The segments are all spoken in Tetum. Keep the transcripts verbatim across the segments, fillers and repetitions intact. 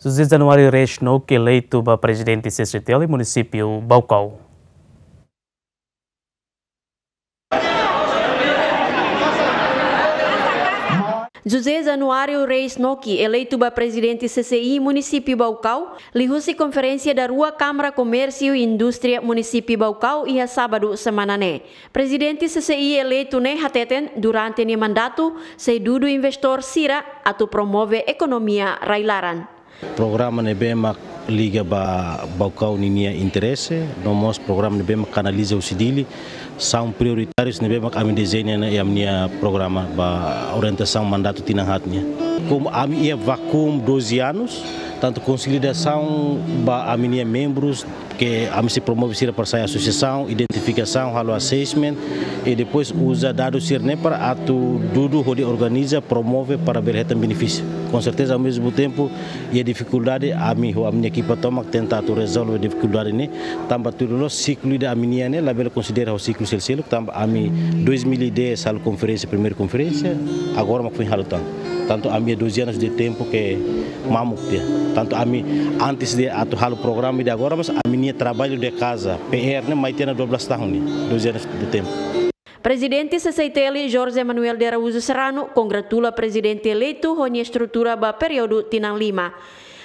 José Januário Reis Noki eleitu ba prezidente C C I T L munisípiu Baucau. José Januário Reis Noki eleitu ba prezidente C C I munisípiu Baucau, liuhusi konferénsia da rua Kámara Komérsiu i Indústria munisípiu Baucau iha sábadu semana ne'e. Prezidente C C I eleitu ne'e hateten durante nia mandatu sei dudu investór sira atu promove ekonomia rai-laran. Programa ne'ebé mak liga ba Baucau ninia interese, no mós programa ne'ebé mak kanaliza husi Dili, são prioritários ne'ebé mak ami dezeña iha ami-nia programa ba orientasaun mandatu tinan haat nian. Komu ami iha vakuu doze anos, tantu konsolidasaun ba ami-nia membrus, ke ami sei promove sira para sai asosiasaun, identifikasaun, halo assessment, i depois uza dadus sira-ne'e para atu dudu hodi organiza, promove para bele hetan benefísiu. Com certeza, ao mesmo tempo, iha difikuldade, ami ho ami-nia ekipa tomak tenta atu rezolve difikuldade ne'e, tanba tuir loloos siklu ida ami-nian ne'e labele konsidera ho siklu sel-seluk, tanba ami dois mil e dez halo konferénsia, primeira konferénsia, agora mak foin halo tan. Tantu ami iha doze anos de tempo ke mamuk tiha. Tantu ami antes de atu halo programa ida agora, mas ami-nia trabalho de casa, P R ne'e mai tiha ona dua belas tahun ne'e, doze anos de tempo. Prezidente C C I T L, Jorge Manuel de Araújo Serrano, kongratula prezidente eleitu ho nia estrutura ba períodu tinan lima.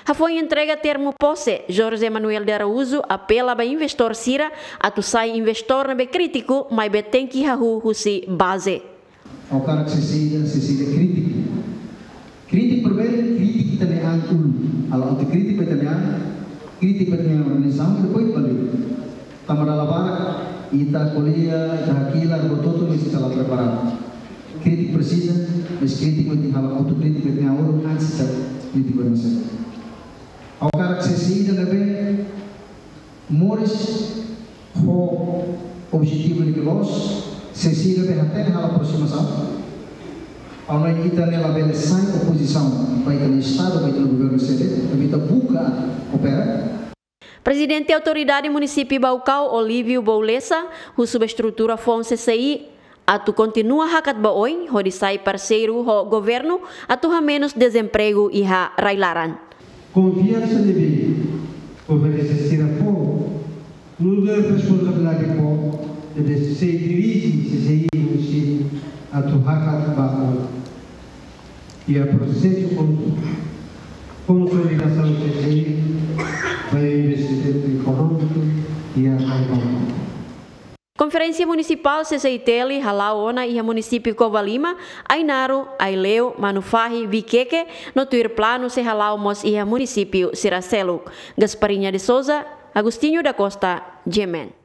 Hafoin entrega termu pose, Jorge Manuel de Araújo apela ba investór sira atu sai investór ne'ebé krítiku, maibé tenke hahú husi baze. Ha'u hakarak C C I ida, C C I ida krítiku. Krítiku primeiru, krítiku ita-nia an uluk. Halo autokrítiku ita-nia an, krítiku ita-nia organizasaun, depois balik. Tanba dala barak, ita ko'alia, ita hakilar, buat hotu mesti sala preparadu. Krítiku presiza, mas krítiku ita halo autokrítiku ita-nia an uluk antes ita krítiku ema seluk. Ha'u hakarak C C I ida ne'ebé moris ho objetivu ne'ebé loos, C C I ida ne'ebé hatene halo aprosimasaun. Ha'u hanoin ita ne'e labele sai opozisaun ba ita-nia estadu, ba ita-nia governu sede, maibé ita buka koopera. Prezidente Autoridade Munisípiu Baucau, Olívio Boulessa, husu ba estrutura foun C C I atu kontinua hakat ba oin hodi sai parseiru ho governu atu hamenus dezempregu iha rai-laran. Konfiansa ne'ebé governu sira fó, nu'udar responsabilidade fó, ne'ebé sei dirije C C I munisípiu atu hakat ba oin. Iha prosesu kon-, konsolidasaun C C I ba investimentu ekonómiku iha Baucau. Konferénsia Munisipál C C I T L hala'o ona iha munisípiu Covalima, Ainaro, Aileu, Manufahi, Viqueque, no tuir planu sei hala'o mós iha munisípiu sira seluk. Gasparinha de Souza, Agostinho da Costa, G M N.